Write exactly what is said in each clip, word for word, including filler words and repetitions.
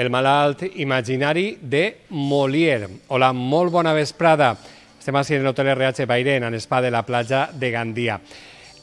El malalt imaginari de Molière. Hola, molt bona vesprada. Estem així en l'Hotel R H Bairén, en l'espai de la platja de Gandia.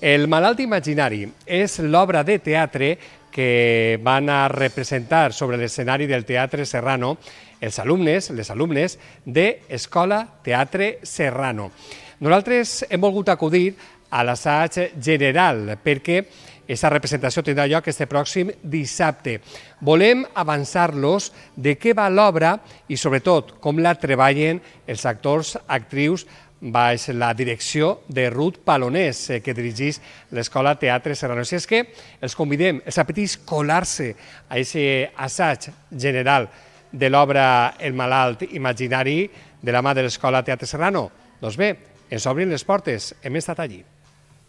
El malalt imaginari és l'obra de teatre que van a representar sobre l'escenari del Teatre Serrano els alumnes, les alumnes de Escola Teatre Serrano. Nosaltres hem volgut acudir a l'assaig general perquè aquesta representació tindrà lloc este pròxim dissabte. Volem avançar-los de què va l'obra i, sobretot, com la treballen els actors, actrius, baix la direcció de Ruth Palonés, que dirigeix l'Escola Teatre Serrano. Si és que els convidem, els apetits colar-se a aquest assaig general de l'obra El malalt imaginari de la mà de l'Escola Teatre Serrano. Doncs bé, ens obrin les portes, hem estat allí.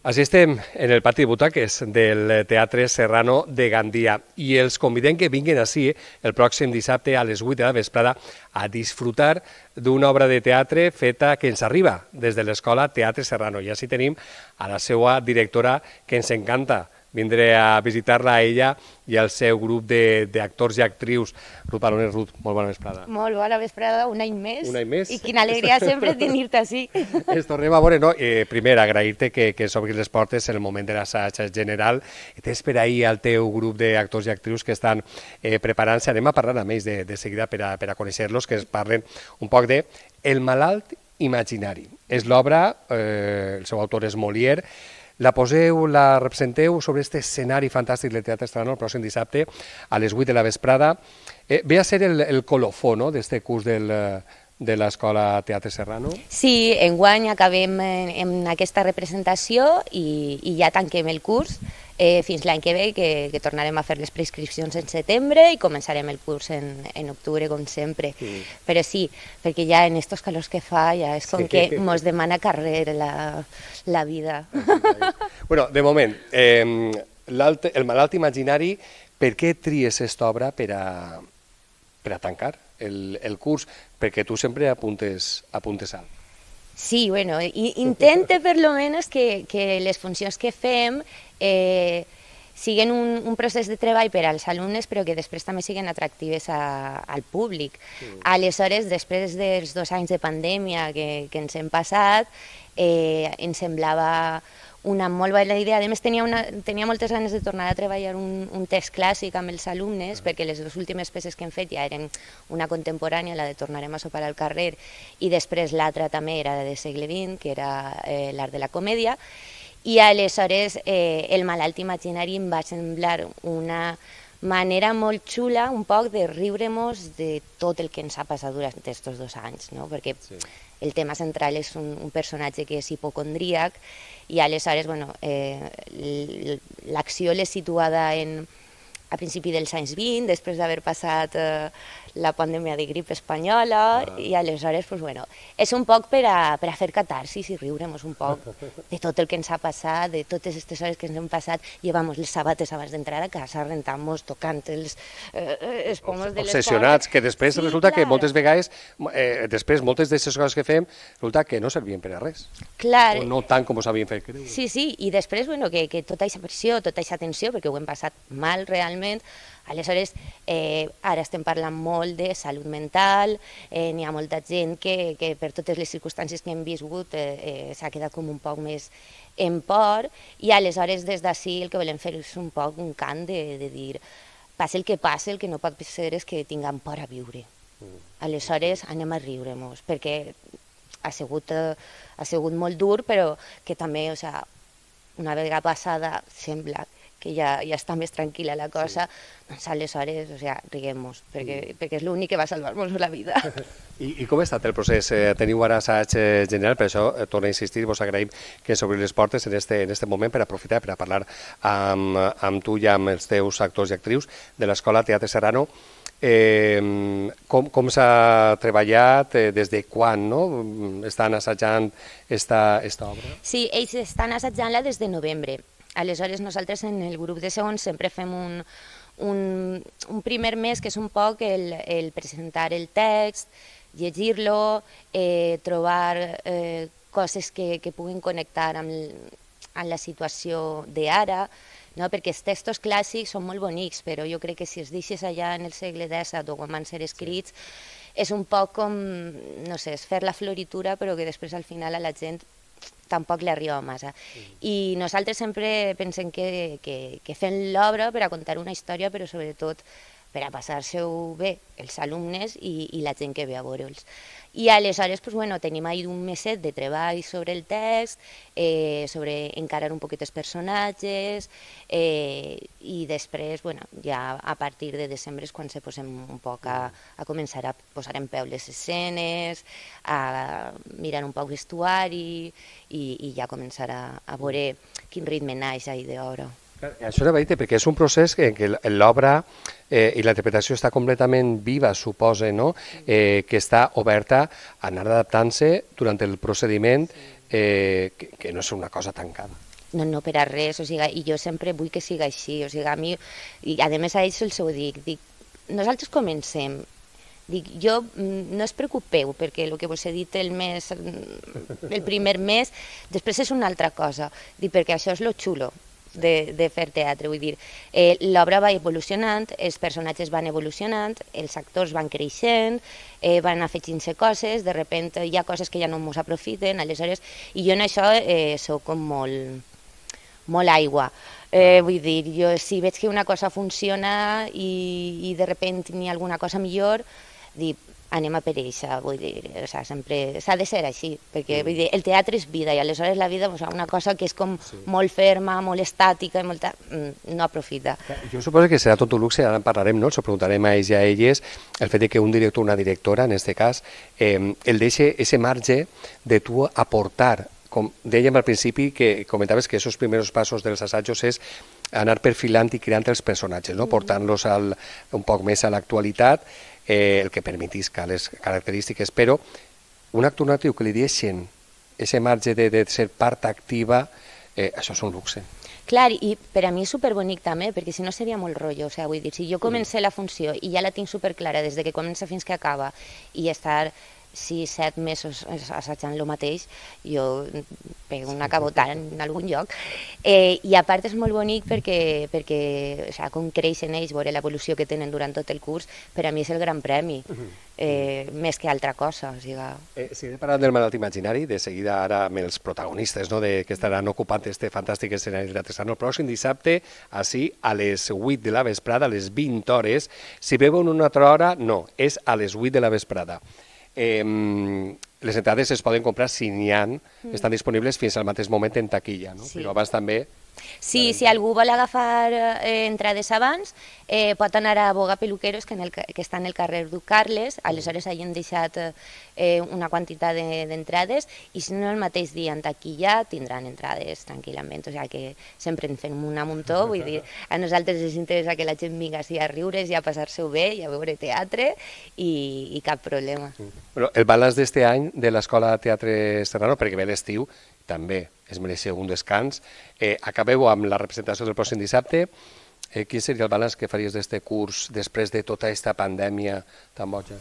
Així estem en el pati de butaques del Teatre Serrano de Gandia i els convidem que vinguin ací el pròxim dissabte a les vuit de la vesprada a disfrutar d'una obra de teatre feta que ens arriba des de l'Escola Teatre Serrano. I així tenim a la seva directora, que ens encanta vindré a visitar-la a ella i al seu grup d'actors i actrius. Ruth Palonés, Ruth, molt bona vesprada. Molt bona vesprada, un any més. Un any més. I quina alegria sempre tenir-te així. Ens tornem a veure, no? Eh, primer, agrair-te que, que s'obrin les portes en el moment de l'assaig general. Tens per ahir al teu grup d'actors i actrius que estan eh, preparant-se. Anem a parlar amb ells de, de seguida per a, per a conèixer-los, que ens parlen un poc de El malalt imaginari. És l'obra, eh, el seu autor és Molière. La poseu, la representeu sobre aquest escenari fantàstic del Teatre Serrano el pròxim dissabte a les vuit de la vesprada. Eh, ve a ser el, el colofó, no?, d'aquest curs del, de l'Escola Teatre Serrano. Sí, enguany acabem en, en aquesta representació i, i ja tanquem el curs eh, fins l'any que ve, que, que tornarem a fer les prescripcions en setembre i començarem el curs en, en octubre, com sempre. Sí. Però sí, perquè ja en estos calors que fa ja és com sí. que mos demana carrer la, la vida. Bueno, de moment, eh, el malalt imaginari, per què tries aquesta obra per a, per a tancar el, el curs? Perquè tu sempre apuntes, apuntes alt. Sí, bueno, intente per lo menos que, que les funcions que fem eh, siguin un, un procés de treball per als alumnes, però que després també siguin atractives a, al públic. Sí. Aleshores, després dels dos anys de pandèmia que, que ens hem passat, eh, ens semblava una molt bona idea. A més, tenia, una, tenia moltes ganes de tornar a treballar un, un text clàssic amb els alumnes, perquè les dues últimes peces que hem fet ja eren una contemporània, la de Tornarem a sopar al carrer, i després l'altra també era de segle vint, que era eh, l'art de la comèdia, i aleshores eh, el malalt imaginari em va semblar una manera molt xula, un poc de riure-nos de tot el que ens ha passat durant aquests dos anys, no? Perquè sí. El tema central és un, un personatge que és hipocondríac i aleshores bueno, eh, l'acció l'he situada en, a principi dels anys vint, després d'haver passat eh, la pandèmia de grip espanyola, ah. i aleshores pues, bueno, és un poc per a, per a fer catarsis i riure-nos un poc de tot el que ens ha passat, de totes aquestes hores que ens hem passat. Llevamos les sabates abans d'entrar a casa, rentant-nos, tocant els, eh, els pomos de l'escola. Obsessionats, que després sí, resulta clar. que moltes vegades, eh, després moltes d'aquestes coses que fem, resulta que no servien per a res. Clar. O no tant com s'havien fet creure. Sí, sí, i després bueno, que, que tota aquesta pressió, tota aquesta tensió, perquè ho hem passat mal realment. Aleshores, eh, ara estem parlant molt de salut mental, eh, n'hi ha molta gent que, que per totes les circumstàncies que hem viscut eh, eh, s'ha quedat com un poc més en por, i aleshores des d'ací el que volem fer és un poc un cant de, de dir passi el que passi, el que no pot ser és que tinguem por a viure. Aleshores anem a riure-nos, perquè ha sigut, eh, ha sigut molt dur, però que també, o sea, una vegada passada sembla que ja, ja està més tranquil·la la cosa, sí. Doncs aleshores, o sea, riguem-nos, perquè, mm. perquè és l'únic que va salvar-nos la vida. I, I com ha estat el procés? Eh, teniu ara assaig general, per això eh, torno a insistir, vos agraïm que s'obrin les portes en este, en este moment per aprofitar, per a parlar amb, amb tu i amb els teus actors i actrius de l'Escola Teatre Serrano. Eh, com com s'ha treballat, eh, des de quan no? Estan assajant esta, esta obra? Sí, ells estan assajant-la des de novembre. Aleshores, nosaltres en el grup de segons sempre fem un, un, un primer mes que és un poc el, el presentar el text, llegir-lo, eh, trobar eh, coses que, que puguin connectar amb, amb la situació d'ara, no? Perquè els textos clàssics són molt bonics, però jo crec que si els deixes allà en el segle disset o quan van ser escrits, és un poc com, no sé, és fer la floritura, però que després al final a la gent tampoc li arriba massa. I nosaltres sempre pensem que, que, que fem l'obra per a contar una història, però sobretot per a passar-se-ho bé els alumnes i, i la gent que ve a veure'ls. I aleshores pues, bueno, tenim ahí un meset de treball sobre el text, eh, sobre encarar un poquet els personatges, eh, i després, bueno, ja a partir de desembre és quan se posem un poc a, a començar a posar en peu les escenes, a mirar un poc vestuari i, i ja començar a, a veure quin ritme naix ahí d'obra. Això era veritat, perquè és un procés en què l'obra eh, i la interpretació està completament viva, suposa, no? eh, que està oberta a anar adaptant-se durant el procediment, eh, que, que no és una cosa tancada. No, no, per a res, o sigui, i jo sempre vull que sigui així, o sigui, a mi, i a més a ells els ho dic, dic, nosaltres comencem, dic, jo, no es preocupeu, perquè el que vos he dit el mes, el primer mes, després és una altra cosa, dic, perquè això és lo xulo, De, de fer teatre, vull dir, eh, l'obra va evolucionant, els personatges van evolucionant, els actors van creixent, eh, van afegint-se coses, de repente hi ha coses que ja no ens aprofiten, aleshores, i jo en això eh, soc com molt, molt aigua. Eh, vull dir, jo si veig que una cosa funciona i, i de repente n'hi ha alguna cosa millor, dic, anem a per eixa, vull dir, o sea, sempre s'ha de ser així, perquè vull dir, el teatre és vida i aleshores la vida, o sea, una cosa que és com sí. molt ferma, molt estàtica, i molta, no aprofita. Jo suposo que serà tot un luxe, ara en parlarem, no? Ens ho preguntarem a ells i a elles, el fet que un director o una directora, en aquest cas, eh, el deixa ese marge de tu aportar, com dèiem al principi, que comentaves que aquests primers passos dels assajos és anar perfilant i creant els personatges, no? Portant-los un poc més a l'actualitat, eh, el que permetisca les característiques, però un actor natiu que li deixen aquest marge de, de ser part activa, eh, això és un luxe. Clar, i per a mi és superbonic també, perquè si no seria molt rotllo, o sigui, vull dir, si jo comencé la funció i ja la tinc superclara des de que comença fins que acaba i estar sis, set mesos assajant el mateix, jo pego una cabotada en algun lloc. Eh, I a part és molt bonic perquè, perquè o sigui, com creixen ells, veure l'evolució que tenen durant tot el curs, per a mi és el gran premi, eh, més que altra cosa. O sigui... eh, si he parlat del malalt imaginari, de seguida ara amb els protagonistes, no, de, que estaran ocupant este fantàstic escenari de Teatre Sant. El pròxim dissabte, així, a les vuit de la vesprada, a les vint hores. Si veuen una altra hora, no, és a les vuit de la vesprada. Eh, les entrades es poden comprar si n'hi ha, mm. estan disponibles fins al mateix moment en taquilla, no? Sí. Però abans també... Sí, si algú vol agafar eh, entrades abans, eh, pot anar a Boga Peluqueros, que, en el, que està en el carrer Duc Carles, aleshores hagin deixat eh, una quantitat d'entrades, de, i si no el mateix dia en taquilla tindran entrades tranquil·lament, o sigui que sempre en fem un muntó, vull dir, a nosaltres ens interessa que la gent vingui a riure's i a passar-se-ho bé i a veure teatre i, i cap problema. Bueno, el balanç d'este any de l'Escola Teatre Serrano, perquè ve l'estiu, també es mereix un descans. Eh, acabeu amb la representació del pròxim dissabte. Eh, quin seria el balanç que faries d'este curs després de tota aquesta pandèmia tan boja?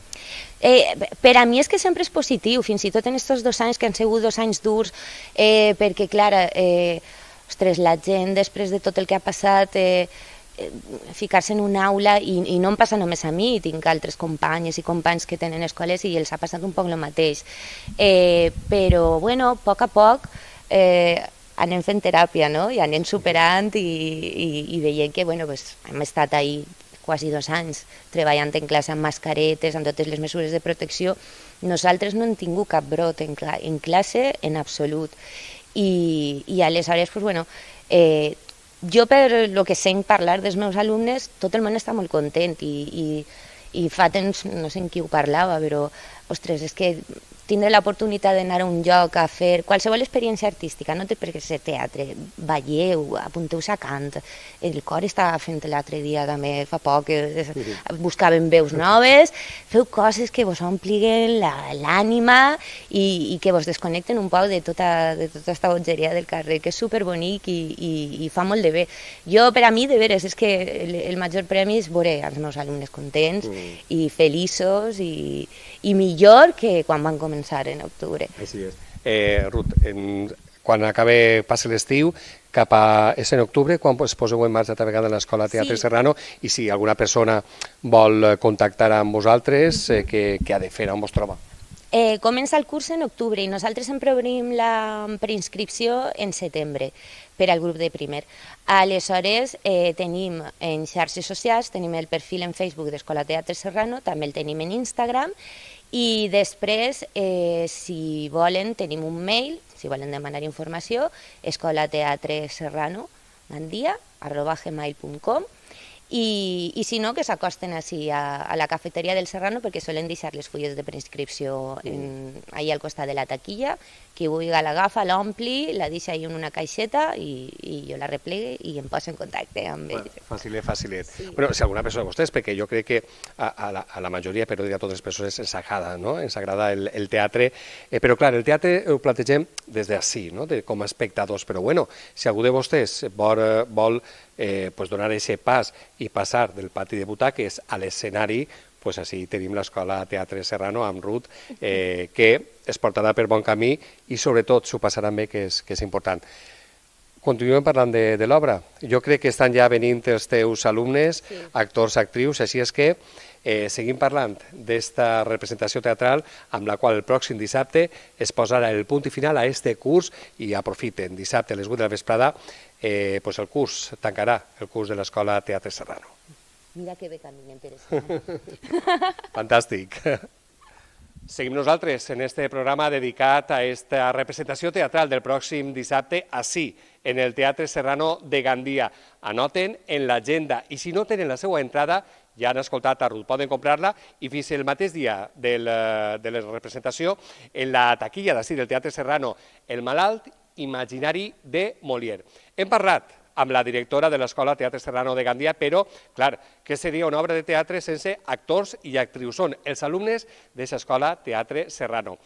Eh, per a mi és que sempre és positiu, fins i tot en aquests dos anys que han sigut dos anys durs, eh, perquè, clar, eh, ostres, la gent després de tot el que ha passat... Eh, ficar-se en una aula i, i no em passa només a mi, tinc altres companyes i companys que tenen escoles i els ha passat un poc el mateix, eh, però bueno, a poc a poc eh, anem fent teràpia, no? I anem superant i, i, i veient que bueno, pues, hem estat ahí quasi dos anys treballant en classe amb mascaretes, amb totes les mesures de protecció. Nosaltres no hem tingut cap brot en, cla en classe en absolut i, i aleshores pues, bueno, eh, jo, per el que sent parlar dels meus alumnes, tot el món està molt content i, i, i fa temps, no sé en qui ho parlava, però, ostres, és que tindre l'oportunitat d'anar a un lloc a fer qualsevol experiència artística, no té per què ser teatre, balleu, apunteu-se a cant, el cor estava fent l'altre dia també, fa poc, buscaven veus noves, feu coses que vos ompliguen l'ànima i, i que vos desconnecten un poc de tota, de tota aquesta bogeria del carrer, que és superbonic i, i, i fa molt de bé. Jo, per a mi, de veres, és que el, el major premi és veure els meus alumnes contents mm. i feliços i, i millor que quan van començar en octubre. Així és. Eh, Ruth, en, quan acabe, passi l'estiu, cap a... És en octubre, quan es poseu en marxa també a l'Escola Teatre Serrano, i si alguna persona vol contactar amb vosaltres, què ha de fer, on vos troba? Eh, comença el curs en octubre i nosaltres sempre obrim la preinscripció en setembre per al grup de primer. Aleshores, eh, tenim en xarxes socials, tenim el perfil en Facebook d'Escola Teatre Serrano, també el tenim en Instagram, i després, eh, si volen, tenim un mail, si volen demanar informació, escolateatreserrano gandia arroba gmail punt com, I, i si no, que s'acosten així a, a la cafeteria del Serrano, perquè solen deixar les fulles de preinscripció en, allà al costat de la taquilla. Qui vulgui l'agafa, l'ompli, la deixa ahí en una caixeta i, i jo la replegue i em poso en contacte amb ells. Bueno, facilet, facilet. Sí. Bueno, si alguna persona de vostès, perquè jo crec que a, a, la, a la majoria, però dir a totes les persones, ens agrada, no? Ens agrada el, el teatre, eh, però clar, el teatre ho plantegem des d'ací, no? De, com a espectadors, però bueno, si algú de vostès vol, vol eh, pues donar aquest pas i passar del pati de butaques a l'escenari, pues així tenim l'Escola Teatre Serrano amb Ruth, eh, que es portarà per bon camí i sobretot s'ho passaran bé, que és, que és important. Continuem parlant de, de l'obra. Jo crec que estan ja venint els teus alumnes, sí. Actors, actrius, així és que eh, seguim parlant d'esta representació teatral amb la qual el pròxim dissabte es posarà el punt i final a este curs i aprofiten. Dissabte a les vuit de la vesprada eh, pues el curs tancarà el curs de l'Escola Teatre Serrano. Mira que bé caminen per estar. Fantàstic. Seguim nosaltres en este programa dedicat a esta representació teatral del pròxim dissabte, així, en el Teatre Serrano de Gandia. Anoten en l'agenda i si no tenen la seva entrada, ja han escoltat a Ruth, poden comprar-la i fins el mateix dia del, de la representació en la taquilla d'ací del Teatre Serrano, El malalt imaginari de Molière. Hem parlat amb la directora de l'Escola Teatre Serrano de Gandia, però, clar, què seria una obra de teatre sense actors i actrius? Són els alumnes d'aquesta Escola Teatre Serrano.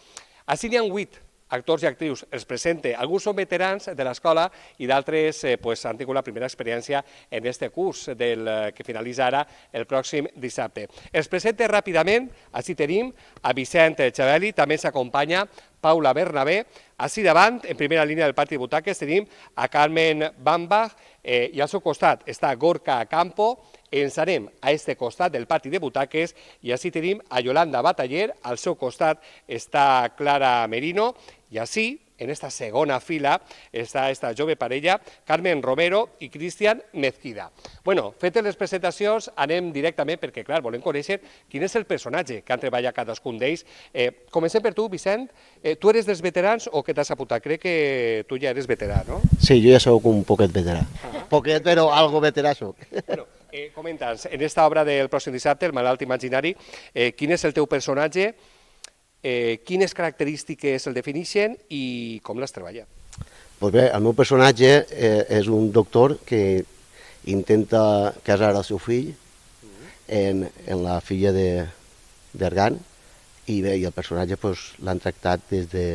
Així n'hi ha vuit actors i actrius, els presente. Alguns són veterans de l'escola i d'altres eh, pues, han tingut la primera experiència en aquest curs del, eh, que finalitza ara el pròxim dissabte. Els presente ràpidament, així tenim a Vicent Xavelli, també s'acompanya Paula Bernabé. Així davant, en primera línia del pati de butaques, tenim a Carmen Bambach eh, i al seu costat està Gorka Campo. Ens anem a este costat del pati de butaques i així tenim a Yolanda Bataller, al seu costat està Clara Merino i així, en esta segona fila, està esta jove parella, Carmen Romero i Cristian Mezquida. Bueno, fetes les presentacions, anem directament perquè, clar, volem conèixer quin és el personatge que han treballat cadascun d'ells. Eh, comencem per tu, Vicent. Eh, tu eres dels veterans o què t'has apuntat? Crec que tu ja eres veterà, no? Sí, jo ja soc un poquet veterà. Uh-huh. Poquet, però algo veterà soc. Bueno, eh, comenta'ns, en esta obra del pròxim dissabte, El malalt imaginari, eh, quin és el teu personatge, eh, quines característiques el defineixen i com l'has treballat? Pues bé, el meu personatge eh, és un doctor que intenta casar el seu fill en, en la filla d'Argan i bé, i el personatge pues, l'han tractat des de,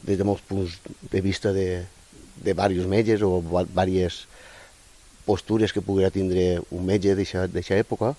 des de molts punts de vista de, de diversos metges o diverses postures que poguera tindre un metge d'aquesta època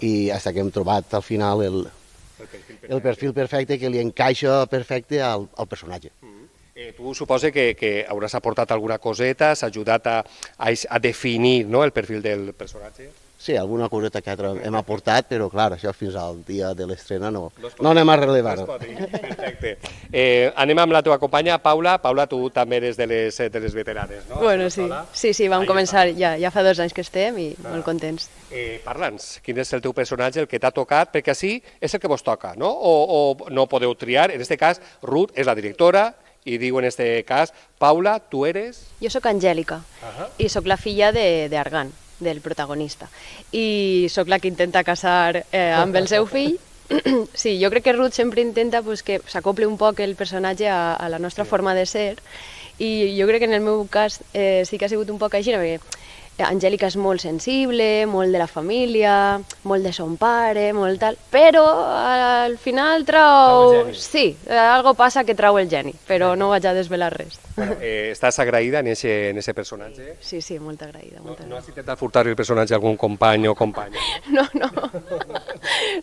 i fins que hem trobat al final el, el, perfil, perfecte. el perfil perfecte que li encaixa perfecte al, al personatge. Mm. Eh, tu suposa que, que hauràs aportat alguna coseta, s'ha ajudat a, a, a definir, no, el perfil del personatge? Sí, alguna coseta que hem aportat, però clar, això fins al dia de l'estrena no, no anem a relevar-ho. Perfecte. Eh, anem amb la teva companya, Paula. Paula, tu també eres de les, de les veteranes, no? Bueno, sí, sí, sí, vam començar, ja, ja fa dos anys que estem i ah. molt contents. Eh, Parla'ns, quin és el teu personatge, el que t'ha tocat, perquè així és el que vos toca, no? O, o no podeu triar, en aquest cas, Ruth és la directora, i diu en aquest cas, Paula, tu eres... Jo sóc Angèlica, uh -huh. i sóc la filla d'Argan, del protagonista, i sóc la que intenta casar eh, amb el seu fill. Sí, jo crec que Ruth sempre intenta pues, que s'acople un poc el personatge a, a la nostra sí. forma de ser, i jo crec que en el meu cas eh, sí que ha sigut un poc així, perquè Angèlica és molt sensible, molt de la família, molt de son pare, molt tal, però al final trau... Sí, algo passa que trau el geni, però no vaig a desvelar res. Bueno, eh, estàs agraïda en ese personatge? Sí, sí, molt agraïda. No, no has intentat furtar el personatge a algun company o companya? No, no.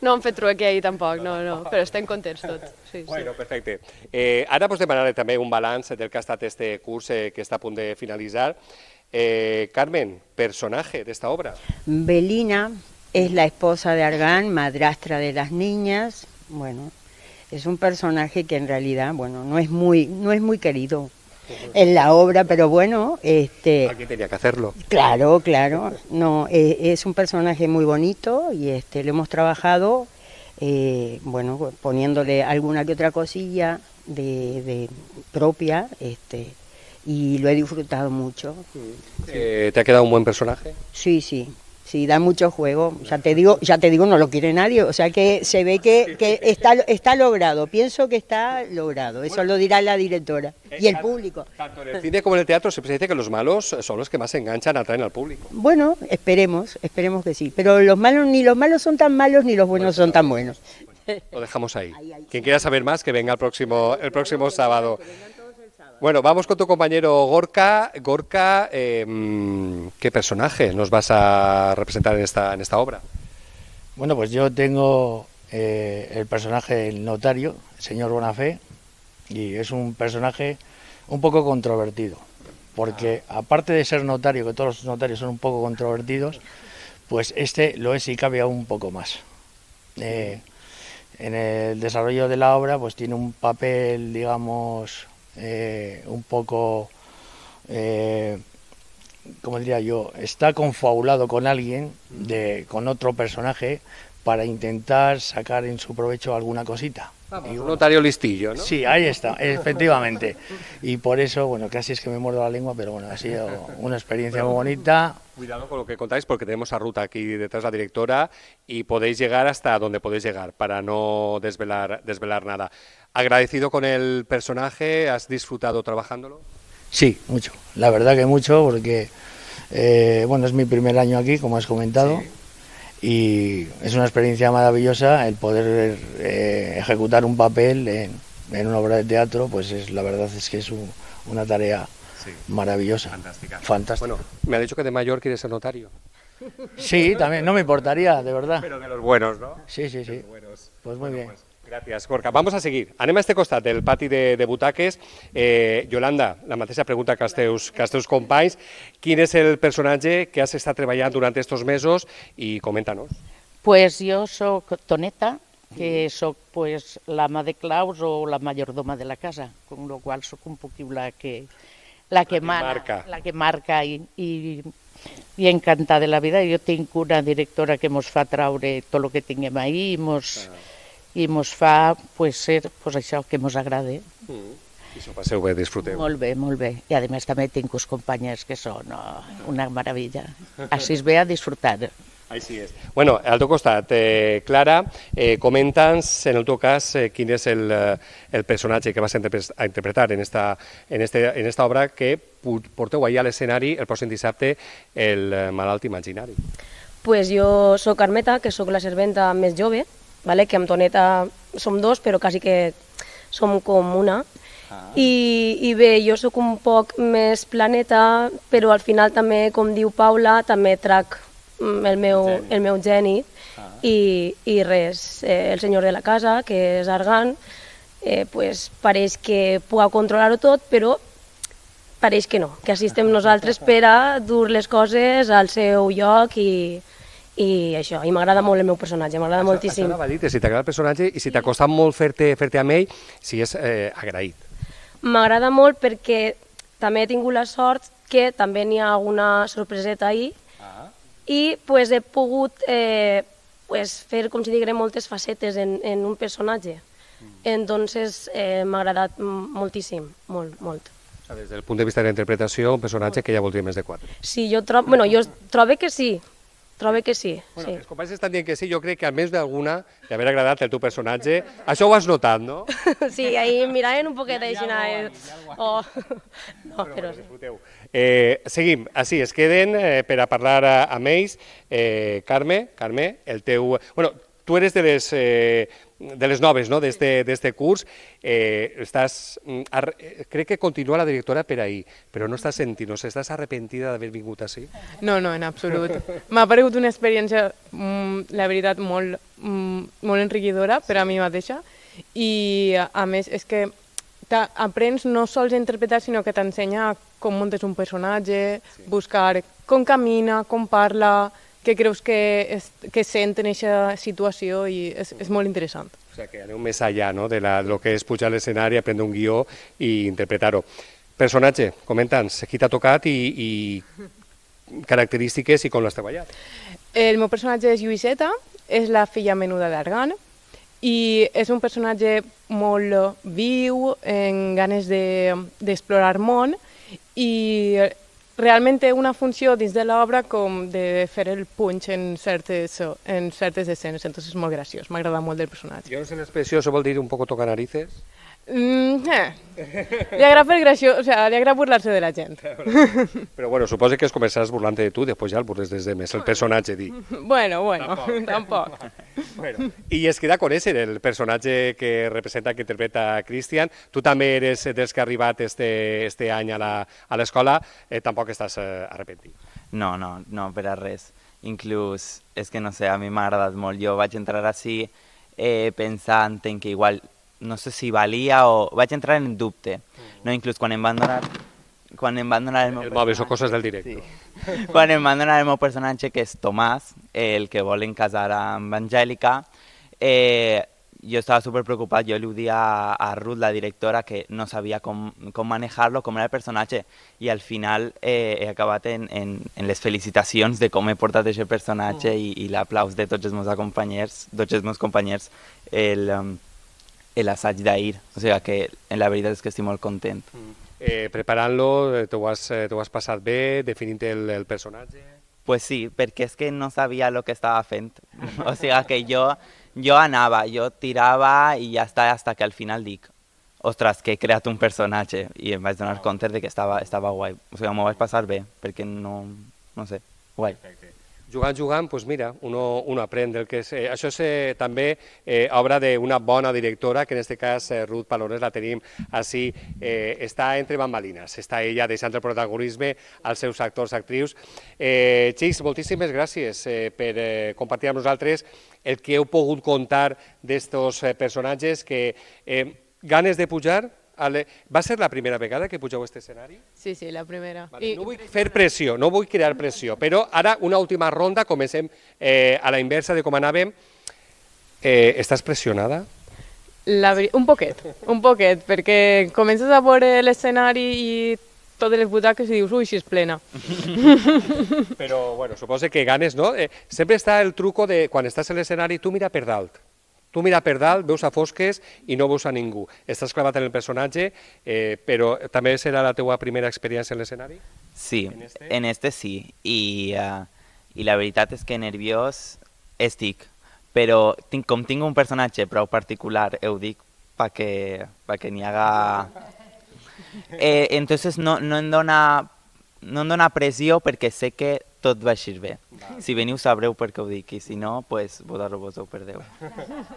No hem fet trueque ahir tampoc, no, no, però estem contents tots. Sí, bueno, perfecte. Eh, ara vos demanaré també un balanç del que ha estat este curs eh, que està a punt de finalitzar. Eh, Carmen, personaje de esta obra. Belina es la esposa de Argán, madrastra de las niñas. Bueno, es un personaje que en realidad, bueno, no es muy, no es muy querido en la obra, pero bueno, este. Alguien tenía que hacerlo. Claro, claro. No, es, es un personaje muy bonito y este lo hemos trabajado, eh, bueno, poniéndole alguna que otra cosilla de, de propia, este. Y lo he disfrutado mucho. Eh, ¿Te ha quedado un buen personaje? Sí, sí, sí, da mucho juego. Ya te digo, ya te digo, no lo quiere nadie. O sea que se ve que, que está, está logrado. Pienso que está logrado. Eso bueno, lo dirá la directora y el público. Tanto en el cine como en el teatro siempre se dice que los malos son los que más se enganchan, atraen al público. Bueno, esperemos, esperemos que sí. Pero los malos, ni los malos son tan malos, ni los buenos son tan buenos. Lo dejamos ahí. Quien quiera saber más, que venga el próximo, el próximo sábado. Bueno, vamos con tu compañero Gorka. Gorka, eh, ¿qué personaje nos vas a representar en esta, en esta obra? Bueno, pues yo tengo eh, el personaje del notario, el señor Bonafé, y es un personaje un poco controvertido, porque aparte de ser notario, que todos los notarios son un poco controvertidos, pues este lo es y cabe aún un poco más. Eh, en el desarrollo de la obra pues tiene un papel, digamos, eh, un poco, eh, como diría yo, está confabulado con alguien, de, con otro personaje, para intentar sacar en su provecho alguna cosita. Vamos, y, un notario listillo, ¿no? Sí, ahí está, efectivamente. Y por eso, bueno, casi es que me muerdo la lengua, pero bueno, ha sido una experiencia muy bonita. Cuidado con lo que contáis, porque tenemos a Ruta aquí detrás, la directora, y podéis llegar hasta donde podéis llegar, para no desvelar, desvelar nada. ¿Agradecido con el personaje? ¿Has disfrutado trabajándolo? Sí, mucho. La verdad que mucho, porque, eh, bueno, es mi primer año aquí, como has comentado. Sí. Y es una experiencia maravillosa el poder eh, ejecutar un papel en, en una obra de teatro, pues es, la verdad es que es un, una tarea sí, maravillosa. Fantástica. Fantástica. Bueno, me ha dicho que de mayor quieres ser notario. Sí, también, no me importaría, de verdad. Pero de los buenos, ¿no? Sí, sí, sí. Buenos. Pues muy bueno, bien. Pues, gràcies, Gorka. Vamos a seguir. Anem a este costat del pati de, de butaques. Eh, Yolanda, la mateixa pregunta que als teus, que als teus companys. Quin és el personatge que has estat treballant durant estos mesos? I comenta-nos. Pues jo soc Toneta, que soc pues, l'ama de claus o la majordoma de la casa, con lo qual soc un poquillo la que, la que, la que mana, marca, la que marca i, i, i encantada de la vida. Jo tinc una directora que mos fa traure tot el que tinguem ahir i mos... Ah. i mos fa pues, ser pues, això que mos agrada. Mm. I s'ho passeu bé, disfruteu. Molt bé, molt bé. I a més també tinc uns companys que són oh, una meravella. Així es ve a disfrutar. Així és. Bueno, al teu costat, eh, Clara, eh, comenta'ns, en el teu cas, eh, quin és el, el personatge que vas a interpretar en esta, en, este, en esta obra que porteu ahir a l'escenari el pròxim dissabte, el malalt imaginari. Pues jo soc Carmeta, que sóc la serventa més jove, vale? Que amb Toneta som dos, però quasi que som com una. Ah. I, I bé, jo sóc un poc més planeta, però al final també, com diu Paula, també trac el meu, el meu geni. Ah. I, i res, eh, el senyor de la casa, que és Argan, eh, pues, pareix que pugui controlar-ho tot, però pareix que no, que assistem nosaltres per a dur les coses al seu lloc i... i això, i m'agrada molt el meu personatge, m'agrada moltíssim. Això anava a dir, si t'agrada el personatge i si t'ha costat molt fer-te fer-te amb ell, si és eh, agraït. M'agrada molt perquè també he tingut la sort que també n'hi ha alguna sorpreseta ahir ah. i pues, he pogut eh, pues, fer, com si diguem, moltes facetes en, en un personatge. Mm. Entonces eh, m'ha agradat moltíssim, molt, molt. O sea, des del punt de vista de la interpretació, un personatge que ja voldria més de quatre. Sí, jo, tro bueno, jo trobo que sí. trobo que sí. Bueno, sí. els companys estan dient que sí, jo crec que a més d'alguna d'haver agradat el teu personatge, això ho has notat, no? Sí, ahí miraven un poquet així. Oh. No, però sí. Eh, seguim, així, es queden eh, per a parlar a, amb ells. Eh, Carme, Carme, el teu... Bueno, tu eres de les, eh, de les noves, no?, d'este curs. Eh, estàs, ar, crec que continua la directora per ahir, però no estàs sentint, no sé, estàs arrepentida d'haver vingut així? No, no, en absolut. M'ha paregut una experiència, mm, la veritat, molt, mm, molt enriquidora per a mi mateixa, i a més és que aprens no sols a interpretar, sinó que t'ensenya com muntes un personatge, sí. buscar com camina, com parla, què creus que, es, que sent en aquesta situació, i és, és molt interessant. O sigui, que aneu més allà, no?, de la, lo que és pujar a l'escenari, aprendre un guió i interpretar-ho. Personatge, comenta'ns, qui t'ha tocat i, i característiques i com l'has treballat. El meu personatge és Lluïseta, és la filla menuda d'Argan, i és un personatge molt viu, amb ganes d'explorar de, món, i realment té una funció dins de l'obra com de fer el punx en certes, en certes escenes, entonces és molt graciós, m'agrada molt del personatge. Jo no sé l'expressió, això vol dir un poco tocar narices? Mm, eh. Li agrada fer graciós, o sea, li agrada burlar-se de la gent. Però bueno, suposo que es començaràs burlant de tu, després ja el burles des de més, el personatge, dic. Bueno, bueno, tampoc. Bueno, i es queda conèixer el personatge que representa, que interpreta Cristian. Tu també eres dels que ha arribat este, este any a l'escola, eh, tampoc estàs eh, arrepentit. No, no, no, per a res. Inclús, és que no sé, a mi m'ha agradat molt. Jo vaig entrar així eh, pensant en que igual, no sé si valia o... Vaig entrar en dubte, no? Inclús quan em van donar... Quan em van donar el meu el mòbil, són coses del directe. Sí. Quan em van donar el meu personatge, que és Tomàs, el que volen casar amb Angèlica, eh, jo estava superpreocupat, jo li ho dia a, a Ruth, la directora, que no sabia com, com manejar-lo, com era el personatge, i al final eh, he acabat en, en, en les felicitacions de com he portat aquest personatge mm. i, i l'aplaus de tots els meus companys, tots els meus companys, el... Um, l'assaig d'ahir, o sigui que la veritat és que estic molt content. Eh, Preparant-lo, t'ho has, has passat bé, definint el, el personatge? Pues sí, perquè és que no sabia el que estava fent, o sigui que jo, jo anava, jo tirava i ja està, fins que al final dic, ostres, que he creat un personatge, i em vaig donar compte de que estava, estava guai, o sigui, m'ho vaig passar bé, perquè no, no sé, guai. Perfecte. Jugant, jugant, doncs mira, uno, uno aprèn del que és... Eh, això és eh, també eh, obra d'una bona directora, que en aquest cas eh, Ruth Palones la tenim així, eh, està entre bambalines, està ella deixant el protagonisme als seus actors, actrius. Eh, Xics, moltíssimes gràcies eh, per eh, compartir amb nosaltres el que heu pogut contar d'estos eh, personatges que eh, ganes de pujar. Ale... Va ser la primera vegada que pugeu a aquest escenari? Sí, sí, la primera. Vale, I... No vull fer pressió, no vull crear pressió, però ara una última ronda, comencem eh, a la inversa de com anàvem. Eh, estàs pressionada? La... Un poquet, un poquet, perquè comences a veure l'escenari i totes les butaques i dius, ui, si és plena. Però, bueno, suposo que ganes, no? Eh, sempre està el truco de, quan estàs a l'escenari, tu mira per dalt. Tu mira per dalt, veus a fosques i no veus a ningú. Estàs clavat en el personatge, eh, però també serà la teua primera experiència en l'escenari? Sí, en este, en este sí. I, uh, I la veritat és que nerviós estic, però tinc, com tinc un personatge prou particular, ho dic perquè, perquè n'hi haga... Eh, entonces no, no, em dona, no em dona pressió perquè sé que tot va així bé. Va. Si veniu sabreu per què ho dic, i si no, pues, vosaltres vos ho perdeu.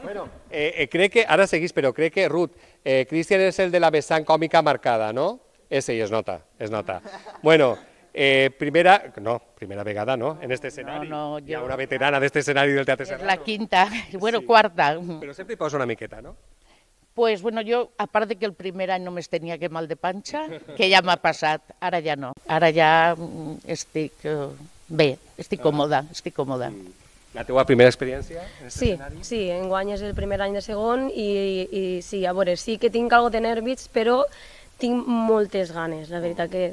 Bueno, eh, eh, crec que, ara seguís, però crec que, Ruth, eh, Cristian és el de la vessant còmica marcada, no? Ese, i es nota, es nota. Bueno, eh, primera, no, primera vegada, no?, en este escenari. No, no, jo... Hi ha una veterana d'este escenari del Teatre És Serrano. la quinta, bueno, Sí. cuarta. Però sempre hi posa una miqueta, no? Pues bueno, yo, aparte de que el primer any només tenia que mal de panxa, que ja m'ha passat, ara ja no. Ara ja mm, estic uh, bé, estic còmoda, estic còmoda. La teua primera experiència en aquest Sí, escenari? sí, enguany és el primer any de segon i, i sí, a veure, sí que tinc algo de nervis, però tinc moltes ganes, la veritat que,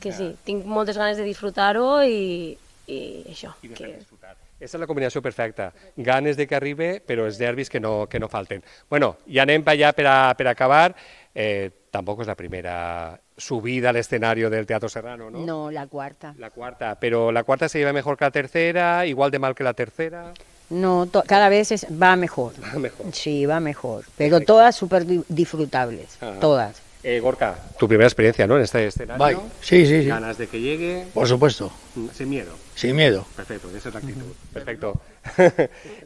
que sí, tinc moltes ganes de disfrutar-ho i, i això. I de que... fer disfrutar. Aquesta és la combinació perfecta. Ganes de que arribi, però els nervis que no, que no falten. Bueno, ja anem allà per, a, per acabar. Eh, tampoco es la primera subida al escenario del Teatro Serrano, ¿no? No, la cuarta. La cuarta, pero la cuarta se lleva mejor que la tercera, igual de mal que la tercera. No, cada vez es, va mejor. Va mejor. Sí, va mejor, pero Perfecto. Todas súper disfrutables, Ajá. todas. Eh, Gorka, tu primera experiencia, ¿no?, en este escenario. Bye. Sí, sí, sí. ¿Ganas de que llegue? Por supuesto. Sin miedo. Sin miedo. Perfecto, esa es la actitud. Perfecto.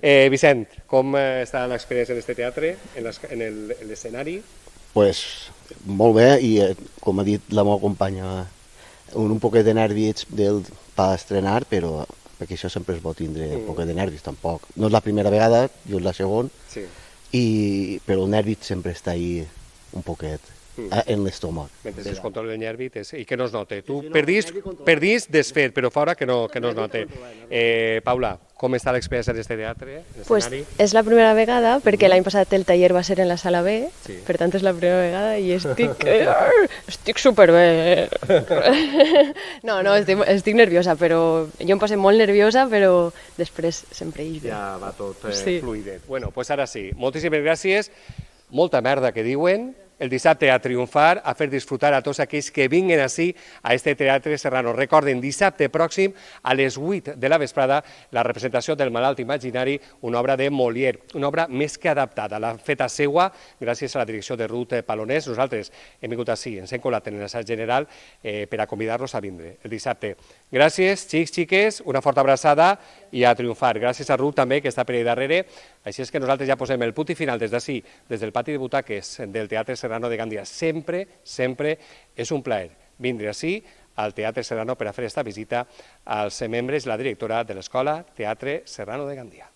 eh, Vicent, com està l'experiència en este teatre, en l'escenari? Pues molt bé, i eh, com ha dit la meva companya, un, un poquet de nervis del, per estrenar, però perquè això sempre es pot tindre un poquet de nervis, tampoc. No és la primera vegada, jo és la segona, sí. i, però el nervi sempre està ahí un poquet. En l'estómac. Mentre es controla el nervi i que no es note. Tu perdís, perdís desfet, però fora que no, que no es note. Eh, Paula, com està l'experiència d'aquest teatre? Pues és la primera vegada, perquè l'any passat el taller va ser en la sala B, sí. Per tant és la primera vegada i estic, estic superbé. No, no, estic, estic nerviosa, però jo em passo molt nerviosa, però després sempre hi ve. Ja va tot eh, sí. fluidet. Bueno, pues ara sí. Moltíssimes gràcies. Molta merda que diuen. El dissabte a triomfar, a fer disfrutar a tots aquells que vinguen ací a este Teatre Serrano. Recorden, dissabte pròxim a les vuit de la vesprada la representació del Malalt Imaginari, una obra de Molière, una obra més que adaptada. L'ha feta seua gràcies a la direcció de Ruth Palonés. Nosaltres hem vingut ací, ens hem colat en l'assaig general eh, per a convidar-los a vindre el dissabte. Gràcies, xics, xiques, una forta abraçada i a triomfar. Gràcies a Ruth també, que està per allà darrere. Així és que nosaltres ja posem el punt i final des d'ací, des del pati de butaques del Teatre Serrano de Gandia. Sempre, sempre és un plaer vindre ací al Teatre Serrano per a fer esta visita als membres i la directora de l'Escola Teatre Serrano de Gandia.